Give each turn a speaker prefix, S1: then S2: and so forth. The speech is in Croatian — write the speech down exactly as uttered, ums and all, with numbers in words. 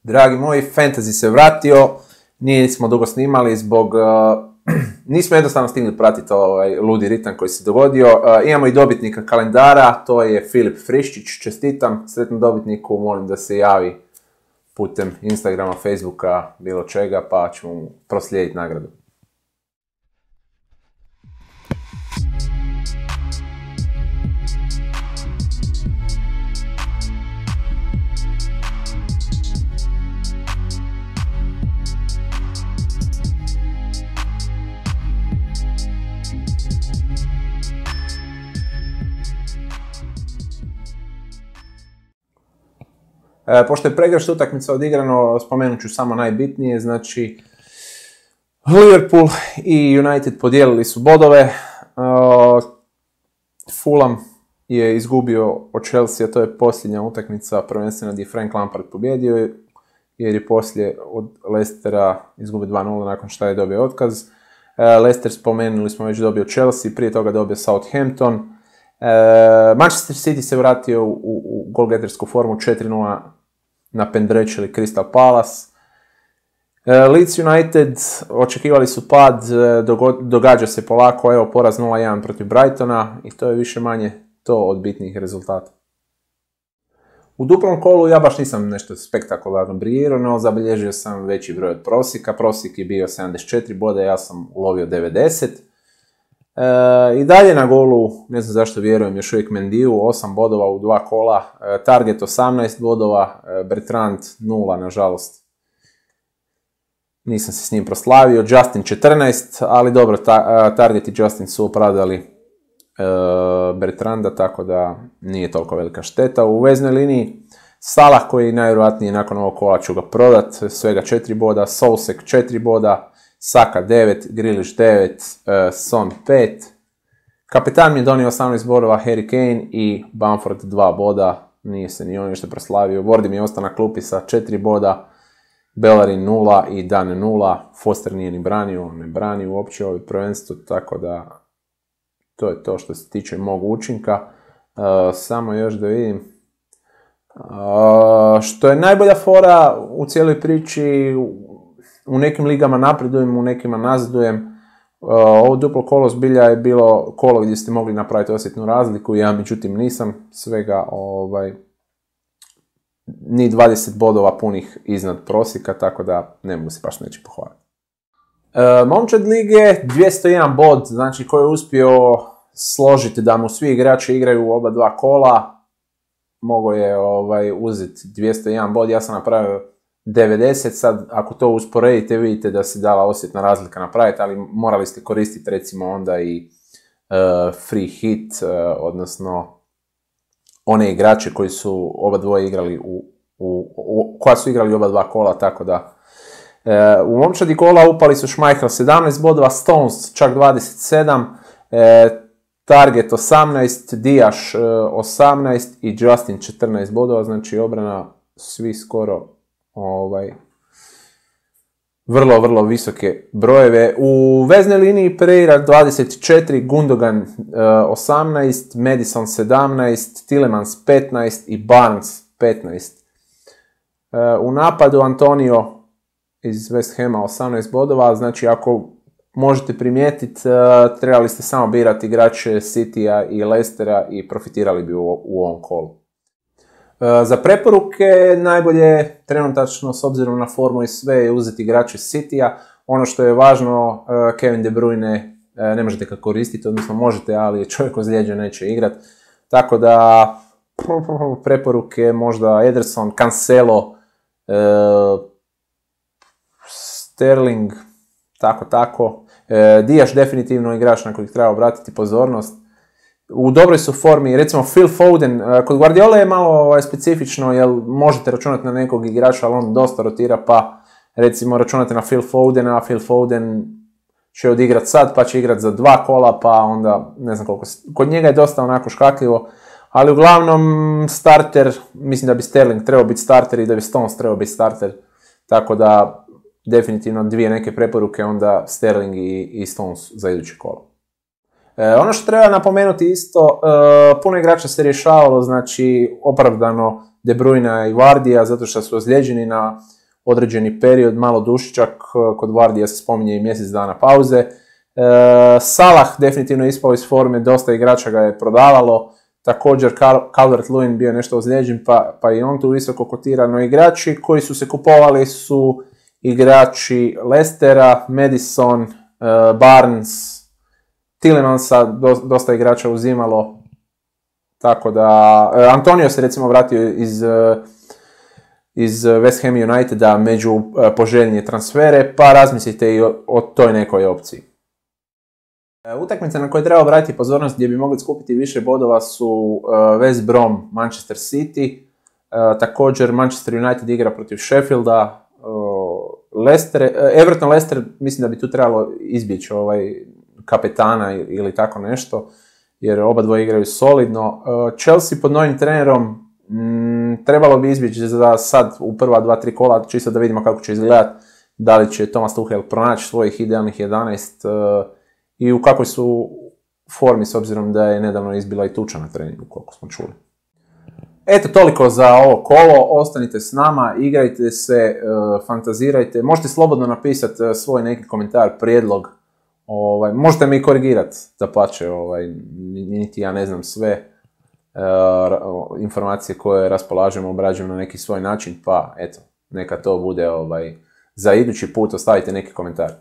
S1: Dragi moji, Fantasy se vratio, nismo dugo snimali zbog, uh, nismo jednostavno stigli pratiti ovaj ludi ritam koji se dogodio. Uh, imamo i dobitnika kalendara, to je Filip Friščić, čestitam sretnom dobitniku, molim da se javi putem Instagrama, Facebooka, bilo čega, pa ćemo mu proslijediti nagradu. E, pošto je pregršt utakmica odigrano, spomenut ću samo najbitnije, znači Liverpool i United podijelili su bodove, e, Fulham je izgubio od Chelsea, to je posljednja utakmica prvenstvena gdje je Frank Lampard pobjedio, jer je poslije od Leicestera izgubio dva nula nakon što je dobio otkaz. E, Leicester, spomenuli smo, već dobio Chelsea, prije toga dobio Southampton. E, Manchester City se vratio u, u, u golgetersku formu, četiri nula napendrečili Crystal Palace. E, Leeds United očekivali su pad, dogo, događa se polako, evo poraz nula jedan protiv Brightona i to je više manje to od bitnih rezultata. U duplom kolu ja baš nisam nešto spektakularno briljirao, no zabilježio sam veći broj od prosjeka. Prosjek je bio sedamdeset četiri boda, ja sam ulovio devedeset. E, I dalje na golu, ne znam zašto vjerujem, još uvijek Mendiju, osam bodova u dva kola, e, Target osamnaest bodova, e, Bertrand nula, nažalost. Nisam se s njim proslavio, Justin četrnaest, ali dobro, ta, e, Target i Justin su opravdali e, Bertranda, tako da nije toliko velika šteta. U veznoj liniji Salah, koji najvjerojatnije nakon ovog kola ću ga prodat, svega četiri boda, Sousek četiri boda, Saka devet, Grealish devet, uh, Son pet. Kapetan mi je donio osamnaest bodova, Harry Kane i Bamford dva boda, nije se ni on nešto proslavio. Wardy mi je ostao na klupi sa četiri boda, Bellerin nula i Dan nula, Foster nije ni branio, ne brani uopće ovo prvenstvo, tako da to je to što se tiče mog učinka. Uh, samo još da vidim. Uh, što je najbolja fora u cijeloj priči, u nekim ligama napredujem, u nekima nazadujem. Ovo duplo kolo zbilja je bilo kolo gdje ste mogli napraviti osjetnu razliku, ja međutim nisam, svega ovaj, ni dvadeset bodova punih iznad prosjeka, tako da ne mogu se baš neće pohvaliti. E, momčad lige, dvjesto jedan bod, znači koji je uspio složiti da mu svi igrači igraju u oba dva kola, mogao je ovaj, uzeti dvjesto jedan bod, ja sam napravio devedeset, sad ako to usporedite vidite da se dala osjetna razlika napraviti, ali morali ste koristiti recimo onda i uh, free hit, uh, odnosno one igrače koji su oba dvoje igrali u, u, u, koja su igrali oba dva kola, tako da uh, u momčadi kola upali su Schmeichel sedamnaest bodova, Stones čak dvadeset sedam, uh, Target osamnaest, Diaz uh, osamnaest i Justin četrnaest bodova, znači obrana svi skoro Ovaj, vrlo, vrlo visoke brojeve. U veznoj liniji Pereira dvadeset četiri, Gundogan uh, osamnaest, Madison sedamnaest, Tielemans petnaest i Barnes petnaest. Uh, u napadu Antonio iz West Hama osamnaest bodova, znači ako možete primijetiti, uh, trebali ste samo birati igrače Citya i Leicestera i profitirali bi u, u ovom kolu. Za preporuke najbolje trenutačno s obzirom na formu i sve je uzeti igrače Cityja. Ono što je važno, Kevin De Bruyne ne možete ga koristiti, odnosno možete, ali je čovjek ozlijeđen, neće igrat. Tako da preporuke možda Ederson, Cancelo, Sterling, tako tako. Diaz definitivno igrač na kojeg treba obratiti pozornost. U dobroj su formi, recimo Phil Foden, kod Guardiola je malo specifično, jer možete računati na nekog igrača, ali on dosta rotira, pa recimo računate na Phil Fodena, a Phil Foden će odigrat sad, pa će igrat za dva kola, pa onda ne znam koliko, kod njega je dosta onako škakljivo, ali uglavnom starter, mislim da bi Sterling trebao biti starter i da bi Stones trebao biti starter, tako da definitivno dvije neke preporuke, onda Sterling i, i Stones za iduće kolo. E, ono što treba napomenuti isto, e, puno igrača se rješavalo, znači opravdano De Bruyne i Vardija, zato što su ozlijeđeni na određeni period, malo dušičak, kod Vardija se spominje i mjesec dana pauze. E, Salah definitivno ispao iz forme, dosta igrača ga je prodavalo, također Calvert-Lewin bio nešto ozlijeđen, pa, pa i on tu visoko kotira, no igrači koji su se kupovali su igrači Leicestera, Madison, e, Barnes, Tillemansa, do, dosta igrača uzimalo, tako da, e, Antonio se recimo vratio iz, e, iz West Ham Uniteda među e, poželjnije transfere, pa razmislite i o, o toj nekoj opciji. E, utakmice na koje treba obratiti pozornost gdje bi mogli skupiti više bodova su e, West Brom, Manchester City, e, također Manchester United igra protiv Sheffielda, e, Leicester, e, Everton Leicester, mislim da bi tu trebalo izbjeći ovaj kapetana ili tako nešto, jer oba dvoje igraju solidno. Chelsea pod novim trenerom m, trebalo bi izbjeći za sad u prva dva, tri kola, čisto da vidimo kako će izgledati, da li će Thomas Tuchel pronaći svojih idealnih jedanaest uh, i u kakvoj su formi, s obzirom da je nedavno izbila i tuča na treningu, koliko smo čuli. Eto, toliko za ovo kolo, ostanite s nama, igrajte se, uh, fantazirajte, možete slobodno napisati uh, svoj neki komentar, prijedlog. Ovaj, možete mi korigirati, da pače, ovaj, niti ja ne znam sve e, informacije koje raspolažemo, obrađujem na neki svoj način, pa eto, neka to bude ovaj, za idući put, ostavite neki komentar.